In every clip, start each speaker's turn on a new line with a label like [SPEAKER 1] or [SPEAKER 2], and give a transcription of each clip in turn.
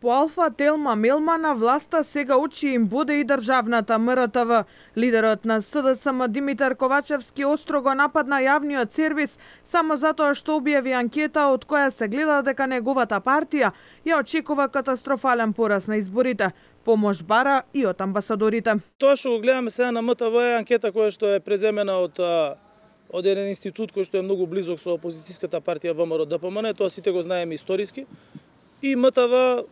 [SPEAKER 1] По Алфа Телма Мелма на власта сега очи им боде и државната МРТВ. Лидерот на СДСМ Димитар Ковачевски остро го нападна јавниот сервис само затоа што објави анкета од која се гледа дека неговата партија ја очекува катастрофален пораз на изборите. Помош бара и од амбасадорите.
[SPEAKER 2] Тоа што го гледаме сега на МТВ е анкета која што е преземена од еден институт кој што е многу близок со опозицијската партија ВМРО ДПМН, тоа сите го знаеме историски. И МТВ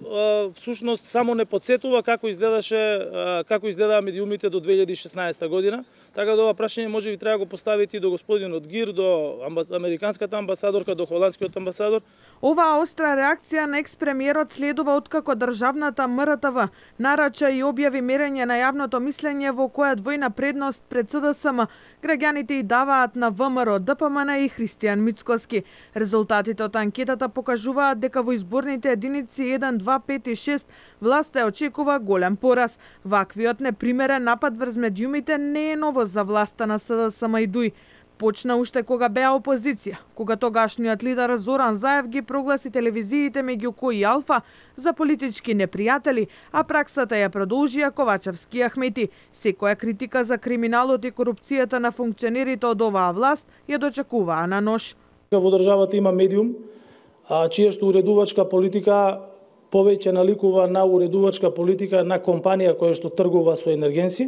[SPEAKER 2] всушност само не подсетува како изгледаа медиумите до 2016 година. Така да ова прашање може би треба да го поставите и до господинот Гир, до американската амбасадорка, до холандскиот амбасадор.
[SPEAKER 1] Оваа остра реакција на екс-премиерот следува откако државната МРТВ нарача и објави мерење на јавното мислење во која двојна предност пред СДСМ граѓаните и даваат на ВМРО ДПМН и Христијан Мицкоски. Резултатите од анкетата покажуваат дека во изборните единици 1, 2, 5 и 6 власта очекува голем пораз. Ваквиот непримерен напад врз медиумите не е новост за власта на СДСМ и ДУИ. Почна уште кога беа опозиција, кога тогашниот лидер Зоран Заев ги прогласи телевизиите меѓу кои Алфа за политички непријатели, а праксата ја продолжија Ковачевски и Ахмети. Секоја критика за криминалот и корупцијата на функционерите од оваа власт ја дочекуваа на нож.
[SPEAKER 2] Во државата има медиум, чија што уредувачка политика повеќе наликува на уредувачка политика на компанија која што тргува со енергенси,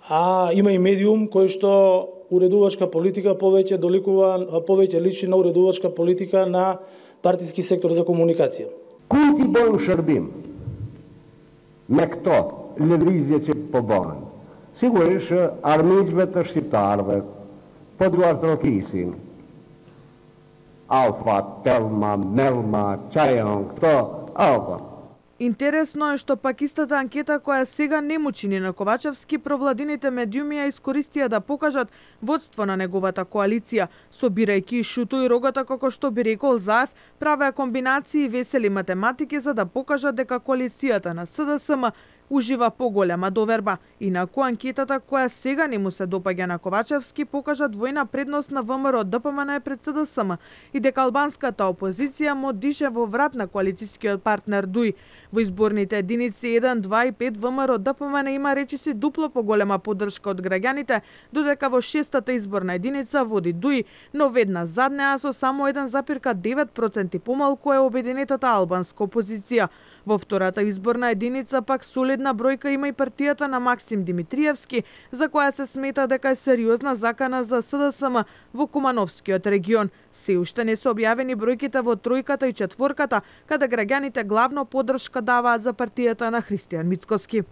[SPEAKER 2] а има и медиум кој што уредувачка политика повеќе личи на уредувачка политика на партиски сектор за комуникација.
[SPEAKER 3] Култи боју Шърбим, me këto lëvizje që po bëhen, sigurisht armiqve të shqiptarëve, po duart rokisin, Alfa, Telma, Melma, Çajon, këto, Alfa.
[SPEAKER 1] Интересно е што пак истата анкета која сега не му чини на Ковачевски, провладините медиуми ја искористија да покажат водство на неговата коалиција, собирајќи шуто и рогата како што би рекол Заев, правеа комбинации и весели математики за да покажат дека коалицијата на СДСМ ужива поголема доверба. Инаку анкетата која сега не му се допаѓа на Ковачевски покажа двојна предност на ВМРО ДПМН пред СДСМ и дека албанската опозиција му дише во врат на коалицијскиот партнер ДУИ. Во изборните единици 1, 2 и 5 ВМРО ДПМН има речиси дупло поголема поддршка од граѓаните, додека во 6-та изборна единица води ДУИ, но веднаш зад неа со само 1,9% помалку е обединетата албанска опозиција. Во втората изборна единица пак солидна бројка има и партијата на Максим Димитриевски, за која се смета дека е сериозна закана за СДСМ во Кумановскиот регион. Се уште не се објавени бројките во тројката и четворката, каде граѓаните главно поддршка даваат за партијата на Христијан Мицкоски.